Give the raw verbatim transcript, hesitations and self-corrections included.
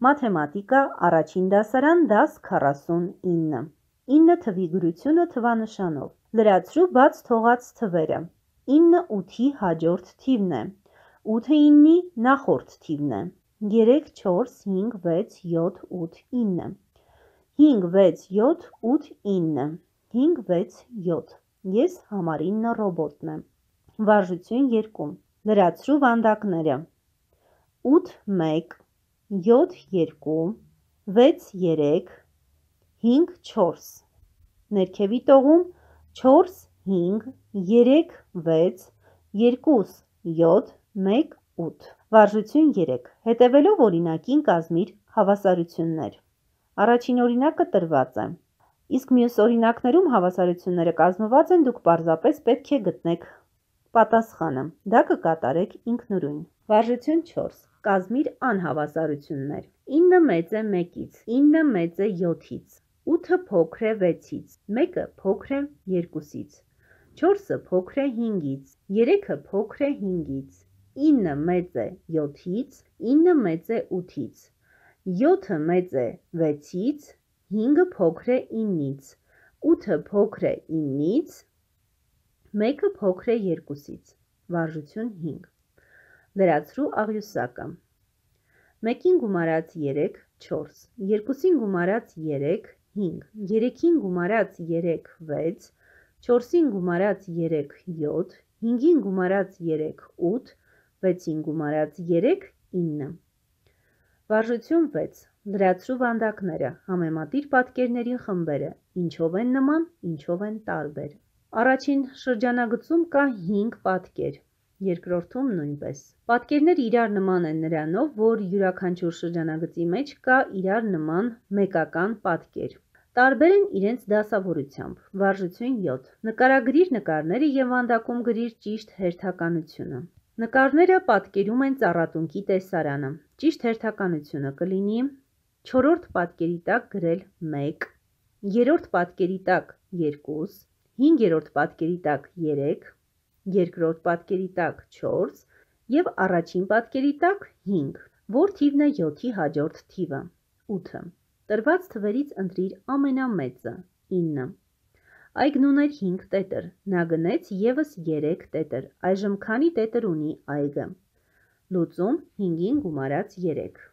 Մաթեմատիկա առաջին դասարան դաս քառասունինը ինը թվի գրությունը թվանշանով լրացրու բաց թողած թվերը ինը ութի հաջորդ թիվն է ութը ինի նախորդ թիվն է երեք չորս հինգ վեց յոթ ութ ինը հինգ վեց յոթ ութ ինը հինգ վեց յոթ Ես համարինը ռոբոտն եմ Վարժություն երկու Լրացրու վանդակները ութ մեկ յոթ երկու վեց երեք հինգ չորս Ներքևի տողում չորս հինգ երեք վեց երկուս յոթ մեկ ութ Վարժություն երեք Հետևելով օրինակին կազմիր հավասարություններ Առաջին օրինակը տրված է Իսկ մյուս օրինակներում հավասարությունները կազմված են դուք պարզապես պետք է գտնեք պատասխանը դա կկատարեք ինքնուրույն Վարժություն չորս Կազմիր անհավասարություններ ինը մեծ է մեկից ինը մեծ է յոթից ութը փոքր է վեցից մեկը փոքր է երկուսից չորսը փոքր է հինգից երեքը փոքր է հինգից ինը մեծ է յոթից ինը մեծ է ութից յոթը մեծ է վեցից հինգը փոքր է ինից ութը փոքր է ինից մեկը փոքր է երկուսից Վարժություն հինգ Լրացրու աղյուսակը մեկին գումարած երեք չորս երկուսին գումարած երեք հինգ երեքին գումարած երեք վեց չորսին գումարած երեք յոթ հինգին գումարած երեք ութ վեցին գումարած երեք ինը Վարժություն վեց Լրացրու վանդակները համեմատիր պատկերների խմբերը ինչով են նման ինչով են տարբեր Առաջին շրջանագծում կա հինգ պատկեր երկրորդում նույնպես Պատկերները իրար նման են նրանով որ յուրաքանչյուր շրջանագծի մեջ կա իրար նման մեկական պատկեր Տարբեր են իրենց դասավորությամբ Վարժություն յոթ Նկարագրիր նկարները և վանդակում գրիր ճիշտ հերթականությունը Նկարները պատկերում են ծառատունկի տեսարանը Ճիշտ հերթականությունը կլինի չորրորդ պատկերի տակ գրել մեկ երրորդ պատկերի տակ երկու հինգերորդ պատկերի տակ երեք երկրորդ պատկերի տակ չորս և առաջին պատկերի տակ հինգ Որ թիվն է յոթի հաջորդ թիվը ութը Տրված թվերից ընտրիր ամենամեծը ինը Այգն ուներ հինգ տետր Նա գնեց ևս երեք տետր Այժմ քանի տետր ունի այգը Լուծում հինգին գումարած երեք